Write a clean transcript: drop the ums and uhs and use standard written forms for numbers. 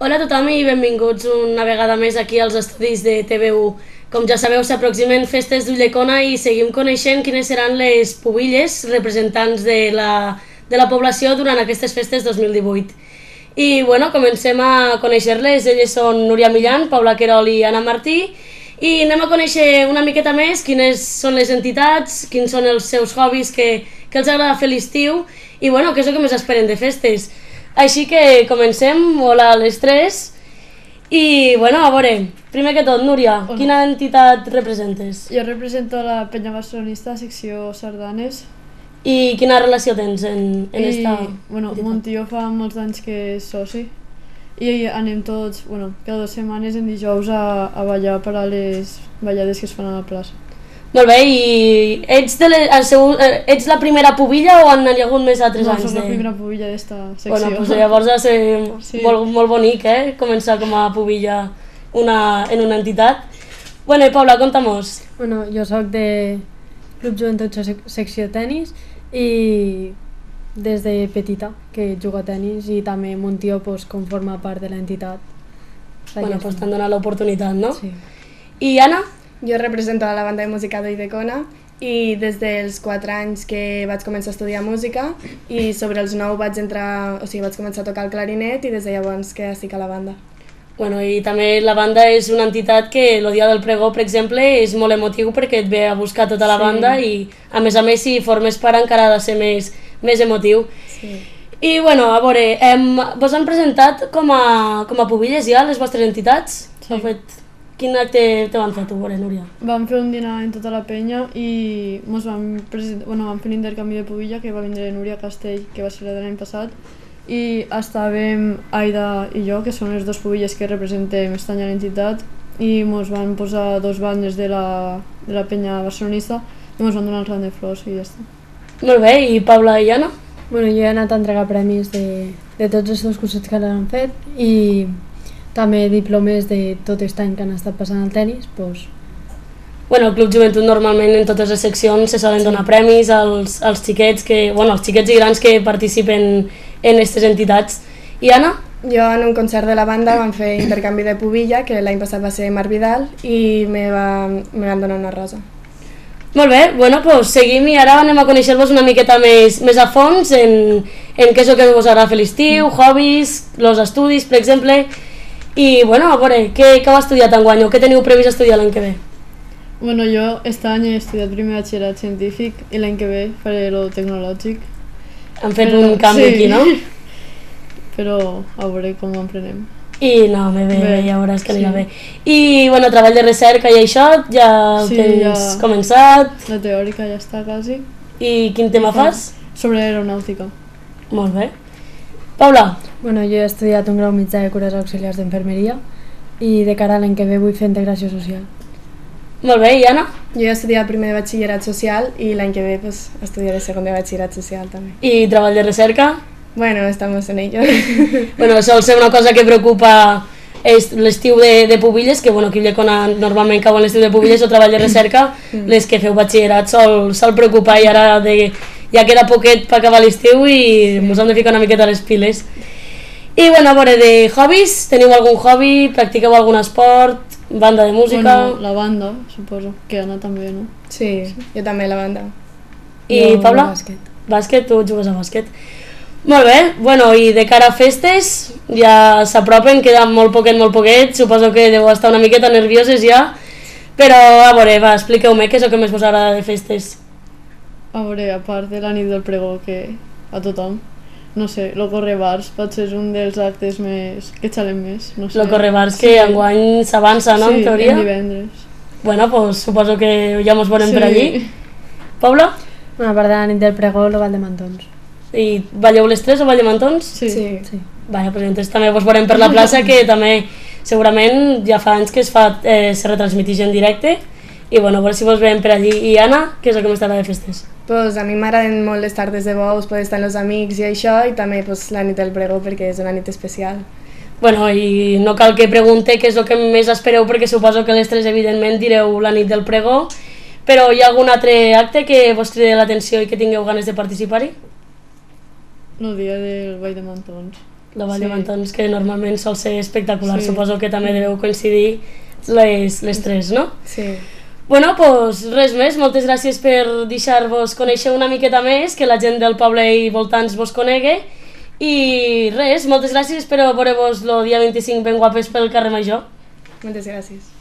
Hola a tothom i benvinguts una vegada més aquí als estudis de TV1. Com ja sabeu, s'aproximen festes d'Ulldecona i seguim coneixent quines seran les pubilles representants de la població durant aquestes festes 2018. I bueno, comencem a conèixer-les. Elles són Núria Millán, Paula Querol i Anna Martí, i anem a conèixer una miqueta més quines són les entitats, quins són els seus hobbies que els agrada fer l'estiu i bueno, què és el que més esperen de festes. Així que comencem. Hola a les tres. I bueno, a veure, primer que tot, Núria, quina entitat representes? Jo represento la Penya Barcelonista, secció Sardanes. I quina relació tens en esta Bueno, entitat? mon tio fa molts anys que és soci i anem tots, cada 2 setmanes en dijous a ballar per a les ballades que es fan a la plaça. Molt bé, i ets la primera pubilla o han hagut més altres anys? No, soc la primera pubilla d'esta secció. Bueno, doncs llavors ha de ser Sí. molt bonic, començar com a pubilla en una entitat. Bueno, i Paula, conta-mos. Bueno, jo sóc de Club Joventut secció tenis i des de petita que jugo a tenis i també mon tio pues, conforma part de l'entitat. Bueno, doncs t'han donat l'oportunitat, no? Sí. I Anna? Jo represento la banda de música d'Ulldecona i des dels 4 anys que vaig començar a estudiar música i sobre els 9 vaig començar a tocar el clarinet i des de llavors que estic a la banda. Bueno, i també la banda és una entitat que el dia del pregó, per exemple, és molt emotiu perquè et ve a buscar tota la banda i a més, si formes part encara ha de ser més emotiu. Sí. I bueno, a veure, vos han presentat com a pubilles ja les vostres entitats? Sí. Quin acte te van fer tu, Núria? Vam fer un dinar en tota la penya i vam fer un intercanvi de pubilla que va vindre Núria Castell, que va ser l'any passat, i estàvem Aida i jo, que són les 2 pubilles que representem aquest any a l'entitat, i ens van posar 2 bandes de la penya barcelonista i ens van donar el ram de flors i ja està. Molt bé, i Paula i Anna? Bueno, jo he anat a entregar premis de tots els 2 cursets que l'han fet i també diplomes de tot aquest any que han estat passant al tenis. Pues... Bueno, el Club Joventut normalment en totes les seccions se solen donar premis als xiquets als xiquets i grans que participen en aquestes entitats. I Anna? Jo en un concert de la banda vam fer intercanvi de pubilla, que l'any passat va ser Marc Vidal, i me van donar una rosa. Molt bé, bueno, doncs seguim i ara anem a conèixer-vos una miqueta més a fons en què és el que us agrada fer l'estiu, hobbies, els estudis, per exemple. I bueno, a veure, què heu estudiat enguany o què teniu previst estudiar l'any que ve? Bueno, jo aquest any he estudiat primer batxillerat científic i l'any que ve faré lo tecnològic. Han fet un canvi aquí, no? Però a veure com ho emprenem. I no, bé, ja veuràs que anirà bé. I bueno, treball de recerca i això, ja ho tens començat? La teòrica ja està quasi. I quin tema fas? Sobre aeronàutica. Molt bé. Paula? Bueno, jo he estudiat un grau mitjà de cures auxiliars d'infermeria i de cara a l'any que ve vull fer integració social. Molt bé, i Anna? Jo he estudiat primer de batxillerat social i l'any que ve estudiaré segon de batxillerat social també. I treball de recerca? Bueno, estamos en ello. Bueno, sol ser una cosa que preocupa l'estiu de pubilles, que bueno, aquí a Ulldecona normalment cauen l'estiu de pubilles o treball de recerca, les que feu batxillerat sol preocupar i ara ja queda poquet per acabar l'estiu i ens hem de ficar una miqueta a les piles. I bueno, a veure, de hobbies, teniu algun hobby? Practiqueu algun esport? Banda de música? Bueno, la banda, suposo, que Anna també, no? Sí, jo també la banda. I Jo Paula? bàsquet. Bàsquet, tu jugues a bàsquet. Molt bé, bueno, i de cara a festes, ja s'apropen, queda molt poquet, suposo que deu estar una miqueta nervioses ja, però a veure, va, expliqueu-me què és el que més us agrada de festes. A veure, a part de la nit del pregó, que a tothom, no sé, lo correbars potser és un dels actes que xalem més, no sé. Lo correbars que enguany s'avança, no, en teoria? Sí, en divendres. Bueno, pues suposo que ja mos veurem per allí. Paula? Bueno, a part de la nit del pregó, el ball de mantons. I balleu les tres o ball de mantons? Sí. Sí. Vale, pues entonces també vos veurem per la plaça, que també segurament ja fa anys que se retransmitix en directe i bueno, a veure si vos veiem per allí. I Anna, què és el que més t'agrada de festes? Pues a mi m'agraden molt les tardes de bous, poder estar amb els amics i això, i també la nit del pregó perquè és una nit especial. Bueno, i no cal que pregunte què és el que més espereu perquè suposo que les tres evidentment direu la nit del pregó, però hi ha algun altre acte que vos cridi l'atenció i que tingueu ganes de participar-hi? El dia del ball de mantons. la Vall de Sí. Mantons, que normalment sol ser espectacular. Sí. Suposo que també deveu coincidir les tres, no? Sí. Bueno, doncs res més, moltes gràcies per deixar-vos conèixer una miqueta més, que la gent del poble i voltants vos conegui, i res, moltes gràcies, espero veure-vos el dia 25 ben guapes pel carrer Major. Moltes gràcies.